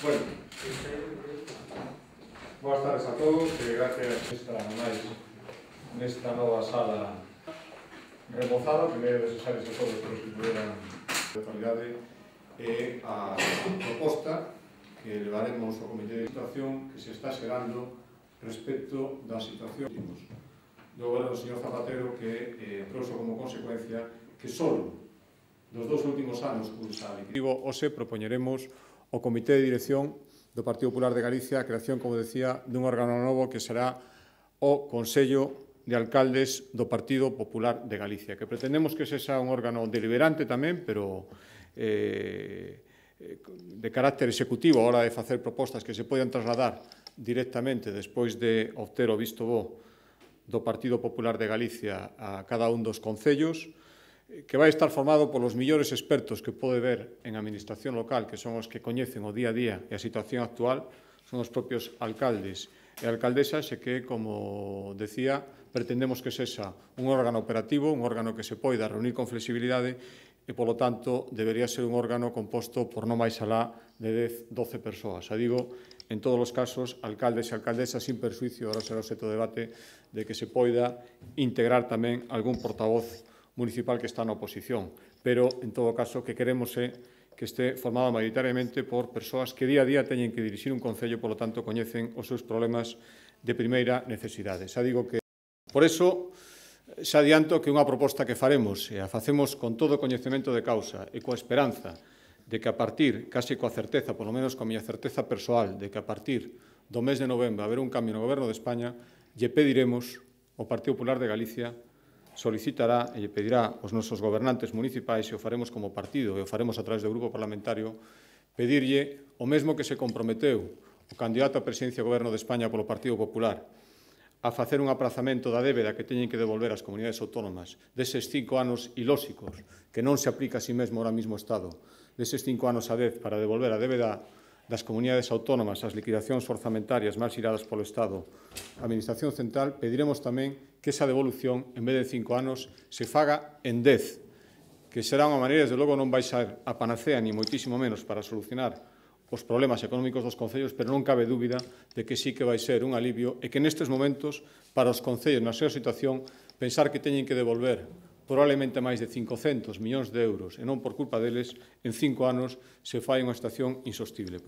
Bueno, boas tardes a todos e gracias nesta nova sala remozada. Primeiro, desexarles a todos os que puderan de calidade e a proposta que levaremos ao Comité de Situación que se está xerando respecto da situación do goberno do señor Zapatero, que trouxo como consecuencia que só nos dos últimos anos cursa liquidativo hoxe propoñeremos ao Comité de Dirección do Partido Popular de Galicia a creación, como decía, dun órgano novo que será o Consello de Alcaldes do Partido Popular de Galicia, que pretendemos que sexa un órgano deliberante tamén, pero de carácter executivo a hora de facer propostas que se poidan trasladar directamente despois de obter o visto bo do Partido Popular de Galicia a cada un dos concellos, que vai estar formado polos millores expertos que pode ver en administración local, que son os que coñecen o día a día e a situación actual, son os propios alcaldes e alcaldesas, e que, como decía, pretendemos que sexa un órgano operativo, un órgano que se poida reunir con flexibilidade e, polo tanto, debería ser un órgano composto por non máis alá de 10-12 persoas. A digo, en todos os casos, alcaldes e alcaldesas sin perxuicio, ahora será o obxecto de debate, de que se poida integrar tamén algún portavoz municipal que está na oposición, pero, en todo caso, que queremos é que este formado maioritariamente por persoas que día a día teñen que dirixir un concello, polo tanto, coñecen os seus problemas de primeira necesidade. Xa digo que, por eso, xa adianto que unha proposta que faremos, e a facemos con todo o coñecemento de causa e coa esperanza de que a partir, case coa certeza, polo menos coa miña certeza persoal, de que a partir do mes de novembro haber un cambio no Goberno de España, lle pediremos ao Partido Popular de Galicia solicitará e lle pedirá aos nosos gobernantes municipais, e o faremos como partido e o faremos a través do grupo parlamentario, pedirlle o mesmo que se comprometeu o candidato a presidencia do Goberno de España polo Partido Popular a facer un aprazamento da débeda que teñen que devolver as comunidades autónomas deses 5 anos ilóxicos que non se aplica a sí mesmo ahora mismo o Estado, deses 5 anos a 10 para devolver a débeda das comunidades autónomas, as liquidacións orzamentarias máis iradas polo Estado, a Administración Central, pediremos tamén que esa devolución, en vez de 5 anos, se faga en 10, que será unha maneira, desde logo non vai ser a panacea, ni moitísimo menos, para solucionar os problemas económicos dos concellos, pero non cabe dúbida de que sí que vai ser un alivio e que nestes momentos, para os concellos na súa situación, pensar que teñen que devolver probablemente máis de 500 millóns de euros, e non por culpa deles, en 5 anos se fai unha situación insostible.